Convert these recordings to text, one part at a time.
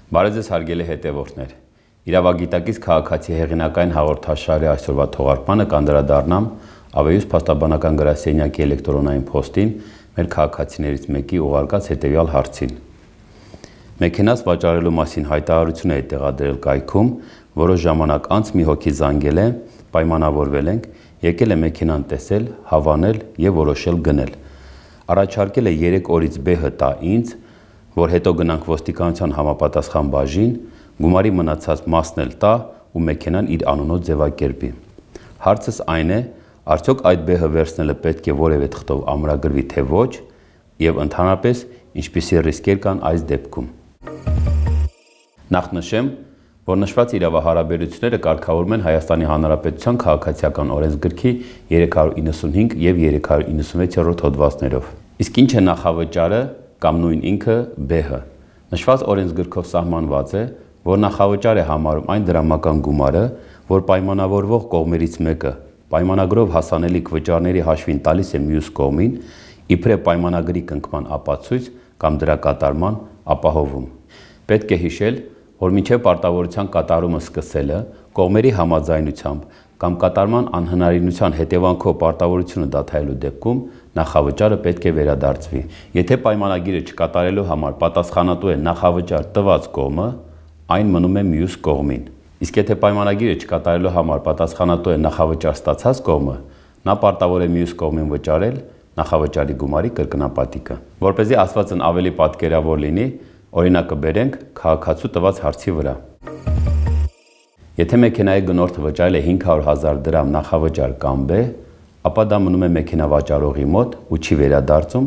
Բարև ձեզ հարգելի հետևորդներ։ Իրավագիտակից քաղաքացի հեղինակային հաղորդաշարի այսօրվա թողարկմանը կանդրադառնամ Ավեյուս փաստաբանական գրասենյակի էլեկտրոնային փոստին մեր քաղաքացիներից մեկի ուղարկած հետևյալ հարցին։ Մեքենաս վաճառելու մասին հայտարարություն է տեղադրել կայքում, որոշ ժամանակ անց մի հոգի զանգել է, պայմանավորվել ենք, եկել է մեքենան տեսել, հավանել եւ որոշել գնել։ Առաջարկել է 3 օրից բեհը տա ինձ, որ հետո գնանք ոստիկանության համապատասխան բաժին, գումարի մնացած մասն էլ տա ու մեքենան իր անունով ձևակերպի։ Հարցս այն է, արդյոք այդ բեհը վերցնելը պետք է որևէ թղթով ամրագրվի թե ոչ, եւ ընդհանրապես ինչպիսի ռիսկեր կան այս դեպքում։ Նախ նշեմ, որ նշված իրավահարաբերությունները կարգավորվում են Հայաստանի Հանրապետության քաղաքացիական օրենսգրքի 395 եւ 396-րդ հոդվածներով։ Իսկ ինչ է նախավճարը կամ նույն ինքը բեհը։ Նշված օրենսգրքով սահմանված է, որ նախավճար է համարում այն դրամական գումարը, որ պայմանավորվող կողմերից մեկը պայմանագրով հասանելիք վճարների հաշվին տալիս է մյուս կողմին, իբրև պայմանագրի կնքման ապացույց կամ դրա կատարման ապահովում։ Պետք է հիշել, որ մինչև պարտավորության կատարումը սկսելը կողմերի համաձայնությամբ կամ կատարման անհնարինության հետևանքով պարտավորությունը դադարելու դեպքում նախավճարը պետք է վերադարձվի։ Եթե պայմանագիրը չկատարելու համար պատասխանատու է նախավճար տված կողմը, այն մնում է մյուս կողմին։ Իսկ եթե պայմանագիրը չկատարելու համար պատասխանատու է նախավճար ստացած կողմը, նա պարտավոր է մյուս կողմին վճարել նախավճարի գումարի կրկնապատիկը։ Որպեսզի ասվածն ավելի պատկերավոր լինի, օրինակը բերենք քաղաքացու տված հարցի վրա։ Եթե մեքենայի գնորդը վճարել է 500,000 դրամ նախավճար կամ բե, ապա դա մնում է մեքենա վաճառողի մոտ ու չի վերադարձում,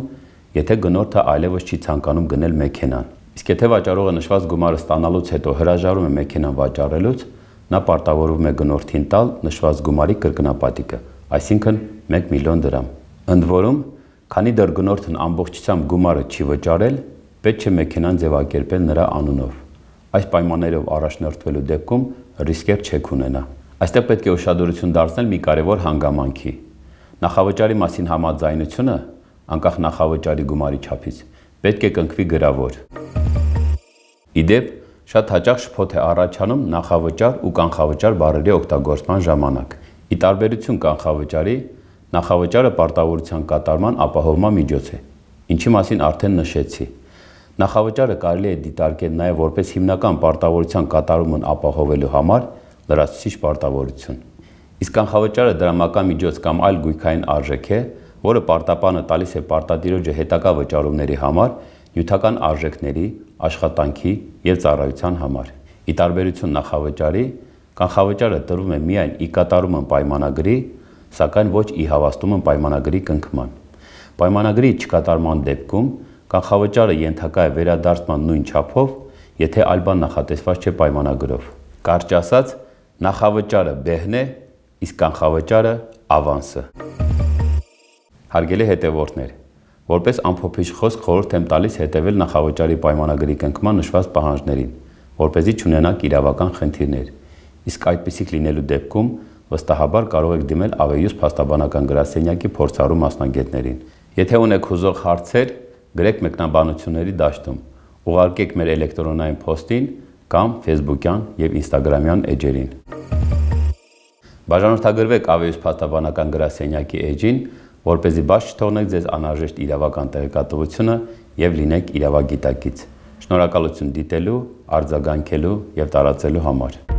եթե գնորդը այլևս չի ցանկանում գնել մեքենան։ Իսկ եթե վաճառողը նշված գումարը ստանալուց հետո հրաժարվում է մեքենան վաճառելուց, նա պարտավորվում է գնորդին տալ նշված գումարի կրկնապատիկը, այսինքն 1 միլիոն դրամ։ Ընդ որում, քանի դեռ գնորդն ամբողջությամբ գումարը չի վճարել, պետք չէ մեքենան ձևակերպել նրա անունով։ Այս պայմաններով առաջնորդվելու դեպքում ռիսկեր չեք ունենա։ Այստեղ պետք է ուշադրություն դարձնել մի կարևոր հանգամանքի։ Նախավճարի մասին համաձայնությունը, անկախ նախավճարի գումարի չափից, պետք է կնքվի գրավոր։ Իդեպ, շատ հաճախ շփոթ է առաջանում նախավճար ու կանխավճար բառերի օգտագործման ժամանակ։ Ի տարբերություն կանխավճարի, նախավճարը պարտավորության կատարման ապահովման միջոց է, ինչի մասին արդեն նշեցի։ Նախավճարը կարելի է դիտարկել նաև որպես հիմնական պարտավորության կատարումն ապահովելու համար լրացուցիչ պարտավորություն։ Իսկ կանխավճարը դրամական միջոց կամ այլ գույքային արժեք է, որը պարտապանը տալիս է պարտադիրոջը հետագա վճարումների համար, նյութական արժեքների, աշխատանքի եւ ծառայության համար։ Ի տարբերություն նախավճարի, կանխավճարը տրվում է միայն ի կատարումն պայմանագրի, սակայն ոչ ի հավաստումն պայմանագրի կնքման։ Պայմանագրի չկատարման դեպքում կանխավճարը ենթակա է վերադարձման նույն չափով, եթե այլ բան նախատեսված չէ պայմանագրով։ Կարճ ասած, նախավճարը բեհն է, իսկ կանխավճարը ավանսը։ Հարգելի հետևորդներ, որպես ամփոփիչ խոսք խորհուրդ եմ տալիս հետևել նախավճարի պայմանագրի կնքման նշված պահանջներին, որպեսզի չունենաք իրավական խնդիրներ։ Իսկ այդպիսիք լինելու դեպքում վստահաբար կարող եք դիմել Ավեյուս փաստաբանական գրասենյակի փորձառու մասնագետներին։ Եթե ունեք հուզող հարցեր, գրեք մեկնաբանությունների դաշտում, ուղարկեք մեր էլեկտրոնային փոստին կամ Facebook-յան եւ Instagram-յան էջերին։ Բաժանորդագրվեք Ավեյուս փաստաբանական գրասենյակի էջին, որպեսզի բաց չթողնեք ձեզ անհրաժեշտ իրավական տեղեկատվությունը եւ լինեք իրավագիտակից։ Շնորհակալություն դիտելու, արձագանքելու եւ տարածելու համար։